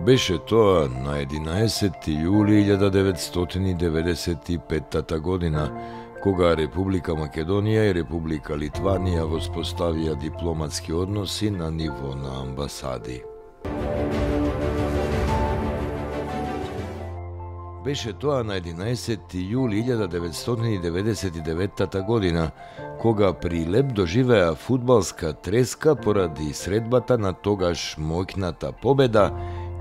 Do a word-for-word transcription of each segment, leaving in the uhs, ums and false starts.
Беше тоа на единаесетти јули илјада деветстотини деведесет и петта година, кога Република Македонија и Република Литванија воспоставија дипломатски односи на ниво на амбасади. Беше тоа на единаесетти јули илјада деветстотини деведесет и деветта година, кога Прилеп доживеа фудбалска треска поради средбата на тогаш моќната победа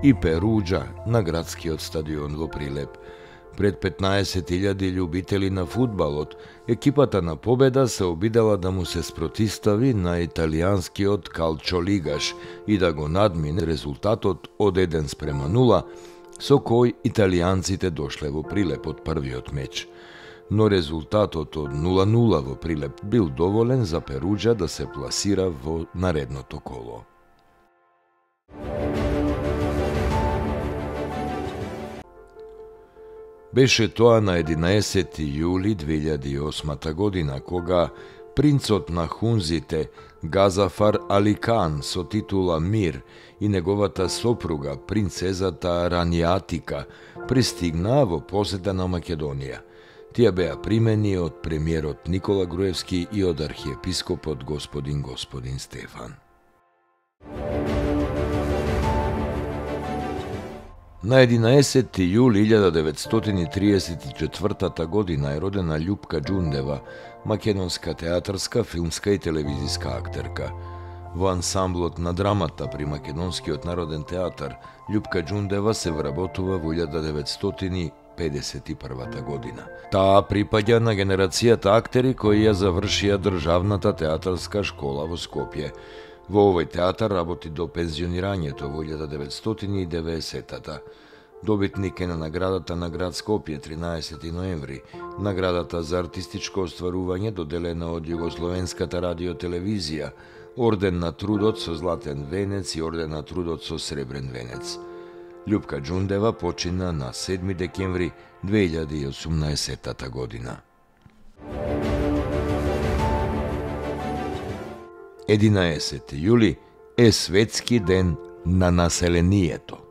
и Перуџа на градскиот стадион во Прилеп. Пред петнаесет илјади љубители на фудбалот, екипата на Победа се обидела да му се спротистави на италијанскиот Калчолигаш и да го надмине резултатот од еден спрема нула, со кој италијанците дошле во Прилеп од првиот меч. Но резултатот од нула нула во Прилеп бил доволен за Перуџа да се пласира во наредното коло. Беше тоа на единаесетти јули две илјади и осма година, кога принцот на хунзите Газафар Али Кан со титула Мир и неговата сопруга принцезата Раниатика пристигнаа во посета на Македонија. Тие беа примени од премиерот Никола Груевски и од архиепископот господин господин Стефан. На единаесетти јули илјада деветстотини триесет и четвртата година е родена Љупка Џундева, македонска театарска, филмска и телевизиска актерка. Во ансамблот на драмата при Македонскиот народен театар, Љупка Џундева се вработува во илјада деветстотини педесет и прва година. Таа припаѓа на генерацијата актери кои ја завршија државната театарска школа во Скопје. Во овој театар работи до пензионирањето во илјада деветстотини и деветдесетта. Добитник е на наградата на град Скопје тринаесети ноември, наградата за артистичко остварување доделена од Југословенската радиотелевизија, орден на трудот со златен венец и орден на трудот со сребрен венец. Љупка Џундева почина на седми декември две илјади и осумнаесетта година. единаесетти јули е светски ден на населението.